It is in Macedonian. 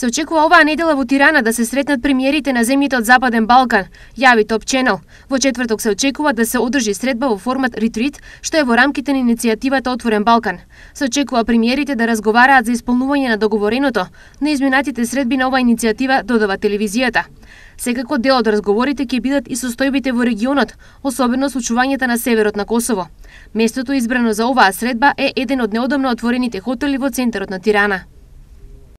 Се очекува оваа недела во Тирана да се сретнат премиерите на земјите од Западен Балкан, јави Топ Ченел. Во четврток се очекува да се одржи средба во формат ретрит, што е во рамките на иницијативата Отворен Балкан. Се очекува премиерите да разговараат за исполнување на договореното на изминатите средби на оваа иницијатива, додава телевизијата. Секако дел од разговорите ќе бидат и состојбите во регионот, особено случувањата на северот на Косово. Местото избрано за оваа средба е еден од неодамно отворените хотели во центарот на Тирана.